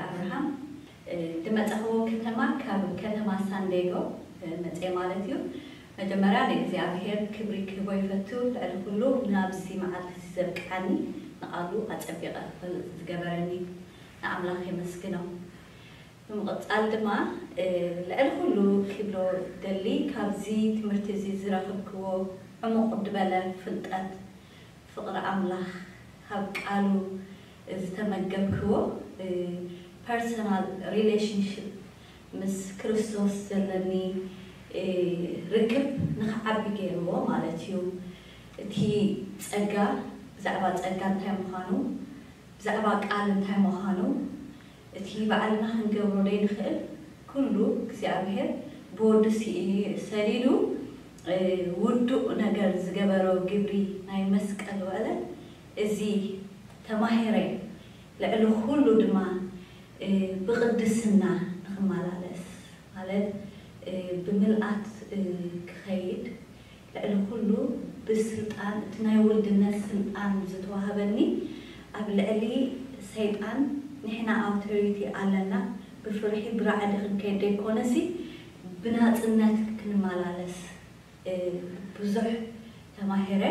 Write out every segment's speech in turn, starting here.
ኣብርሃም፣ እ፣ ዝመጻኽዎ ከተማ ካብ ከተማ ሳንዴጎ፣ እ፣ መጽየ ማለት እዩ። መጀመርያ ንእግዚኣብሔር ክብሪ ክህቦ ይፈቱ። ልዕሊ ኩሉ ናብዚ መዓልቲ እዚ ዘብቅዓኒ ንቓሉ ኣጸቢቐ ክፈልጥ ዝገበረኒ ንኣምላኽ የመስግኖ። ብምቕጻል ድማ፣ እ፣ ልዕሊ ኩሉ ክብሎ ደሊ ካብዚ ትምህርቲ እዚ ዝረኽብክዎ ዕሙቕ ዝበለ ፍልጠት ፍቕሪ ኣምላኽ ካብ ቃሉ ዝተመገብክዎ፣ እ፣ ፐርሰናል ሪሌሽንሽፕ ምስ ክርስቶስ ዘለኒ፣ እ፣ ርክብ ንኽዓቢ ገይርዎ ማለት እዩ። እቲ ጸጋ፣ ብዛዕባ ጸጋ እንታይ ምዃኑ፣ ብዛዕባ ቃል እንታይ ምዃኑ፣ እቲ ባዕልና ክንገብሮ ዘይንኽእል ኩሉ እግዚኣብሔር ብወዱ ስኢ-፣ ሰዲዱ፣ እ፣ ውዱእ ነገር ዝገበሮ ግብሪ ናይ መስቀል ውዕለት እዚ ተማሂረ። ልዕሊ ኩሉ ድማ፣ እ፣ ብቕድስና ንኽመላለስ ማለት፣ እ፣ ብምልኣት፣ እ፣ ክኸይድ፣ ልዕሊ ኩሉ ብስልጣን፣ እቲ ናይ ውልድነት ስልጣን ዝተዋህበኒ፣ ኣብ ልዕሊ ሰይጣን ንሕና ኣውቶሪቲ ኣለና። ብፍርሒ ብራዕዲ ክንከይድ ዘይኮነሲ፣ ብናጽነት ክንመላለስ፣ እ፣ ብዙሕ ተማሂረ።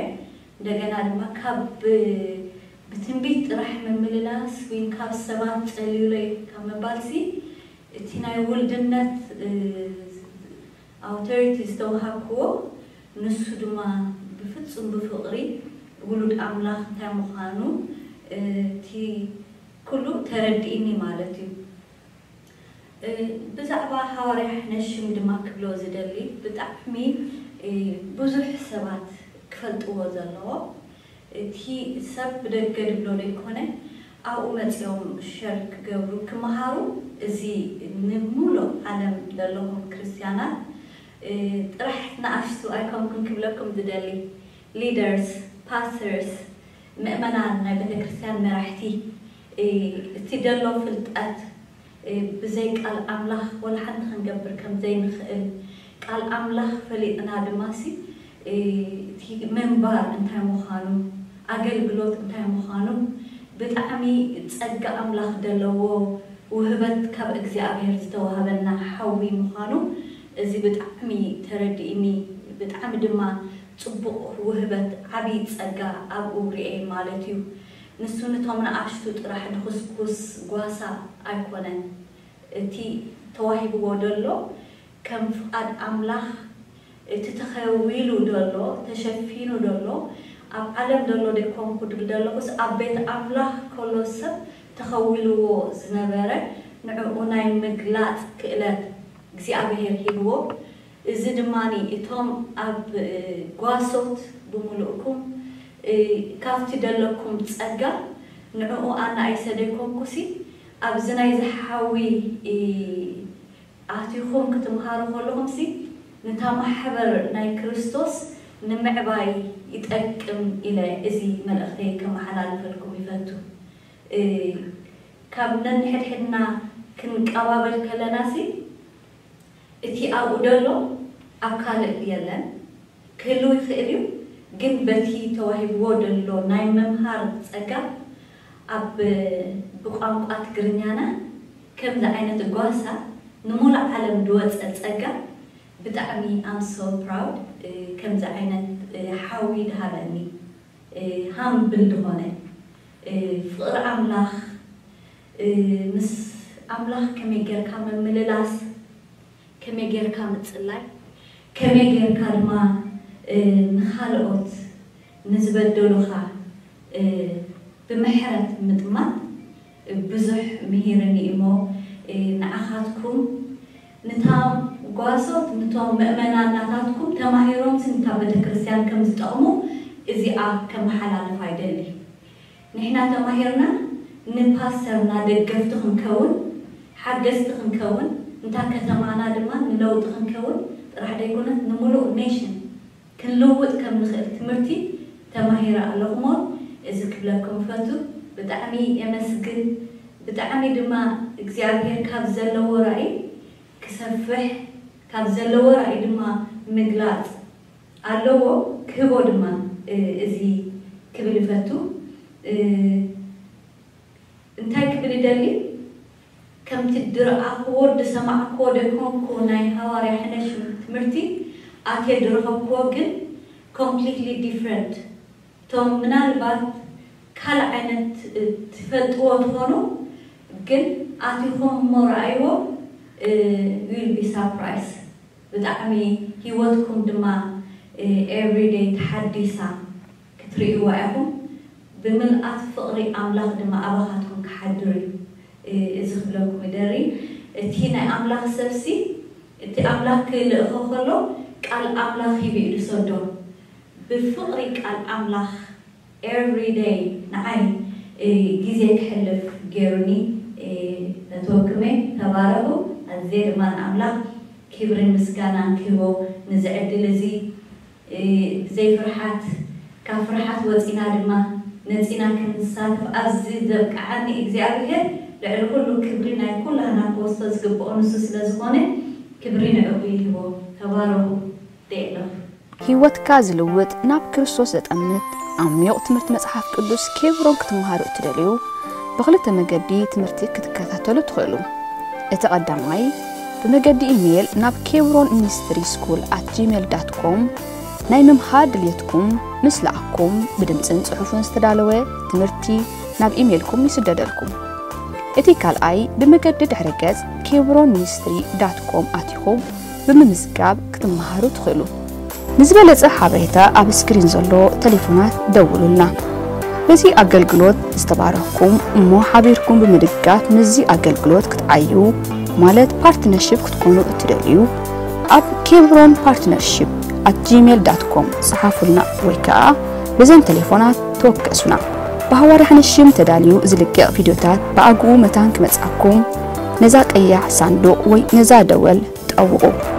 እንደገና ድማ ካብ ብ-፣ ብትንቢት ጥራሕ ምምልላስ ወይ ካብ ሰባት ጸልዩለይ ካብ ምባልሲ፣ እቲ ናይ ውልድነት፣ እ፣ ኣውቶሪቲ ዝተዋሃብክዎ፣ ንሱ ድማ ብፍጹም ብፍቕሪ ውሉድ ኣምላኽ እንታይ ምዃኑ፣ እ፣ እቲ ኩሉ ተረዲእኒ ማለት እዩ። እ፣ ብዛዕባ ሃዋርያ ሕነሽም ድማ ክብሎ ዝደሊ፣ ብጣዕሚ፣ እ፣ ብዙሕ ሰባት ክፈልጥዎ ዘለዎ፣ እቲ ሰብ ብደገ ድብሎ ዘይኮነ፣ ኣብኡ መጺኦም ሸር ክገብሩ፣ ክመሃሩ፣ እዚ ንሙሉእ ዓለም ዘለኹም ክርስትያናት፣ እ፣ ጥራሕ ንኣሽቱ ኣይኮንኩን ክብለኩም ዝደሊ፣ ሊደርስ፣ ፓስተርስ፣ ምእመናን፣ ናይ ቤተ ክርስትያን መራሕቲ፣ እ፣ እቲ ደሎ ፍልጠት፣ እ፣ ብዘይ ቃል ኣምላኽ ወላ ሓንቲ ክንገብር ከም ዘይንኽእል፣ ቃል ኣምላኽ ፈሊጥና ድማሲ፣ እ፣ እቲ ምንባር እንታይ ምዃኑ፣ ኣገልግሎት እንታይ ምዃኑ፣ ብጣዕሚ ጸጋ ኣምላኽ ዘለዎ ውህበት ካብ እግዚኣብሔር ዝተዋህበና ሓዊ ምዃኑ፣ እዚ ብጣዕሚ ተረዲእኒ። ብጣዕሚ ድማ ጽቡቕ ውህበት፣ ዓቢ ጸጋ ኣብኡ ርእየ ማለት እዩ። ንሱ ነቶም ንኣሽቱ ጥራሕ ድኹስኩስ ጓሳ ኣይኮነን። እቲ ተዋሂብዎ ደሎ ከም ፍቓድ ኣምላኽ፣ እቲ ተኸዊሉ ደሎ፣ ተሸፊኑ ደሎ፣ ኣብ ዓለም ደሎ ደይኮንኩ ድብል ደለኹስ፣ ኣብ ቤት ኣምላኽ ከሎ ሰብ ተኸዊልዎ ዝነበረ፣ ንዕኡ ናይ ምግላጽ ክእለት እግዚኣብሔር ሂብዎ። እዚ ድማኒ እቶም ኣብ፣ እ፣ ጓሶት ብምሉእኩም፣ እ፣ ካብቲ ደለኩም ጸጋ ንዕኡ ኣናኢሰ ደይኮንኩሲ፣ ኣብዚ ናይ ዝሓዊ፣ እ፣ ኣቲኹም ክትምሃሩ ከለኹምሲ፣ ነታ ማሕበር ናይ ክርስቶስ ንምዕባይ ይጠቅም ኢለ እዚ መልእኽተይ ከመሓላልፈልኩም ይፈቱ። እ፣ ካብ ነንሕድሕድና ክንቀባበል ከለናሲ፣ እቲ ኣብኡ ደሎ ኣብ ካልእ የለን። ክህልው ይኽእል እዩ፣ ግን በቲ ተዋሂብዎ ደሎ ናይ ምምሃር ጸጋ፣ ኣብ ብቋንቋ ትግርኛና ከምዚ ዓይነት ጓሳ ንሙሉእ ዓለም ዝወጸ ጸጋ፣ ብጣዕሚ I'm so proud፣ እ፣ ከምዚ ዓይነት፣ እ፣ ሓዊ ድሃበኒ፣ እ፣ ሃምብል ዝኾነ፣ እ፣ ፍቕሪ ኣምላኽ፣ እ፣ ምስ ኣምላኽ ከመይ ጌርካ ምምልላስ፣ ከመይ ጌርካ ምጽላይ፣ ከመይ ጌርካ ድማ፣ እ፣ ንኻልኦት ንዝበደሉኻ፣ እ፣ ብምሕረት ምጥማት፣ እ፣ ብዙሕ ምሂርኒ እሞ፣ እ፣ ንዓኻትኩም፣ ንታ ጓሶት፣ ንቶም ምእመናን ናታትኩም ተማሂሮምሲ ንታ ቤተክርስትያን ከም ዝጠቕሙ እዚኣ ከመሓላልፋ ይደሊ። ንሕና ተማሂርና ንፓስተርና ደገፍቲ ክንከውን፣ ሓገዝቲ ክንከውን፣ እንታ ከተማና ድማ ንለውጢ ክንከውን ጥራሕ ደይኮነስ፣ ንምሉእ ኔሽን ክንልውጥ ከም ንኽእል ትምህርቲ ተማሂረ ኣለኹ እሞ፣ እዚ ክብለኩም እፈቱ። ብጣዕሚ የመስግን። ብጣዕሚ ድማ እግዚኣብሔር ካብ ዘለዎ ራእይ ክሰፍሕ፣ ካብ ዘለዎ ራእይ ድማ ምግላጽ ኣለዎ፣ ክህቦ ድማ፣ እ፣ እዚ ክብል እፈቱ። እ፣ እንታይ ክብል ይደሊ? ከምቲ ድረኣኽዎ ድሰማዕክዎ ደይኮንኩ ናይ ሃዋርያ ሕነሽም ትምህርቲ ኣትየ ድረኸብክዎ ግን completely different። እቶም ምናልባት ካልእ ዓይነት ትፈልጥዎ ትኾኑ ግን ኣቲኹም እሞ ረኣይዎ። You will be surprised። ብጣዕሚ ሂወትኩም ድማ everyday ተሓዲሳ ክትርእይዋ ኢኹም። ብምልኣት ፍቕሪ ኣምላኽ ድማ ኣባኻትኩም ክሓድር እዩ። እዚ ክብለኩም ይደሪ። እቲ ናይ ኣምላኽ ሰብሲ እቲ ኣምላኽ ክልእኾ ከሎ ቃል ኣምላኽ ሂቡ እዩ ዝሰዶ። ብፍቕሪ ቃል ኣምላኽ everyday ንዓይ ግዜ ክሕልፍ ገይሩኒ። ነትወክመይ ተባረኹ። ኣዝየ ድማ ንኣምላኽ ክብርን ምስጋናን ክህቦ ንዚ ዕድል እዚ ብዘይ ፍርሓት ካብ ፍርሓት ወፂና ድማ ነፂና ክንሳተፍ ኣብዚ ዘብቅዓኒ እግዚኣብሔር ልዕሊ ኩሉ ክብሪ ናይ ኩላህና ክወስዶ ዝግብኦ ንሱ ስለ ዝኾነ ክብሪ ንዕኡ ይህቦ። ተባረኹ። ደየለኹ። ህይወትካ ዝልውጥ ናብ ክርስቶስ ዘጠምት ዓሚቕ ትምህርቲ መጽሓፍ ቅዱስ ኬብሮን ክትመሃሩ እትደልዩ ብኽልተ መገዲ ትምህርቲ ክትከታተሉ ትኽእሉ። እቲ ቀዳማይ ብመገዲ ኢሜይል ናብ ኬብሮን ሚኒስትሪ ስኩል ኣት ጂሜል ዳት ኮም ናይ ምምሃር ድልየትኩም ምስ ለኣኩም ብድምፅን ፅሑፍን ዝተዳለወ ትምህርቲ ናብ ኢሜይልኩም ይስደደልኩም። እቲ ካልኣይ ብመገዲ ድሕረ ገጽ ኬብሮን ሚኒስትሪ ዳት ኮም ኣቲኹም ብምምዝጋብ ክትመሃሩ ትኽእሉ። ንዝበለጸ ሓበሬታ ኣብ ስክሪን ዘሎ ተሌፎናት ደውሉልና። በዚ ኣገልግሎት ዝተባረኽኩም እሞ ሓቢርኩም ብምድጋፍ ምስዚ ኣገልግሎት ክትዓዩ ማለት ፓርትነርሺፕ ክትኮኑ እትደልዩ ኣብ ኬብሮን ፓርትነርሺፕ ኣት ጂሜል ዳት ኮም ጸሓፉልና ወይ ከኣ በዘን ተሌፎናት ተወከሱና። ብሃዋርያ ሕነ ሽም ተዳልዩ ዝልቀቕ ቪድዮታት ብኣግኡ መታን ክመጽኣኩም ነዛ ቀያሕ ሳንዱቕ ወይ ነዛ ደወል ጠውቑ።